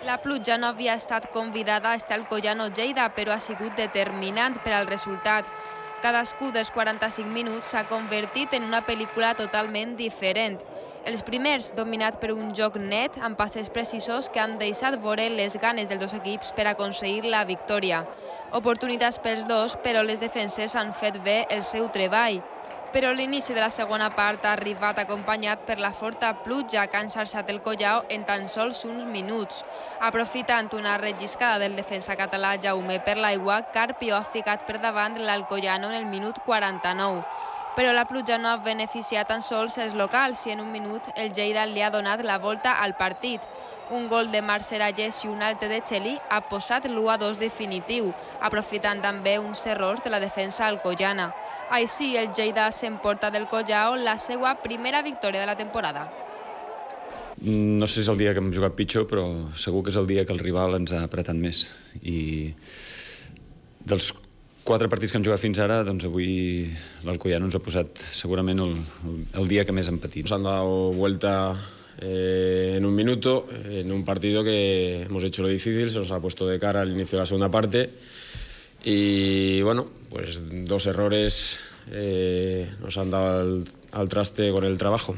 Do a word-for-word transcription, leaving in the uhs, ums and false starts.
La pluja no havia estat convidada a estar al Collano Lleida, però ha sigut determinant per al resultat. Cadascú dels quaranta-cinc minuts s'ha convertit en una pel·lícula totalment diferent. Els primers, dominats per un joc net, amb passes precisos que han deixat veure les ganes dels dos equips per aconseguir la victòria. Oportunitats pels dos, però les defenses han fet bé el seu treball. Però l'inici de la segona part ha arribat acompanyat per la forta pluja que ha enxarxat el Collao en tan sols uns minuts. Aprofitant una relliscada del defensa català Jaume per l'aigua, Carpio ha ficat per davant l'Alcoyano en el minut quaranta-nou. Però la pluja no ha beneficiat tan sols els locals i en un minut el Lleida li ha donat la volta al partit. Un gol de Marc Serallés i un altre de Txelí ha posat l'u a dos definitiu, aprofitant també uns errors de la defensa alcoyana. Així, el Lleida s'emporta del Collao la seva primera victòria de la temporada. No sé si és el dia que hem jugat pitjor, però segur que és el dia que el rival ens ha apretat més. I dels quatre partits que hem jugat fins ara, doncs avui l'Alcoyano ens ha posat segurament el, el día que més hem patit. Nos han dado vuelta eh, en un minuto, en un partido que hemos hecho lo difícil, se nos ha puesto de cara al inicio de la segunda parte y bueno, pues dos errores eh, nos han dado al, al traste con el trabajo.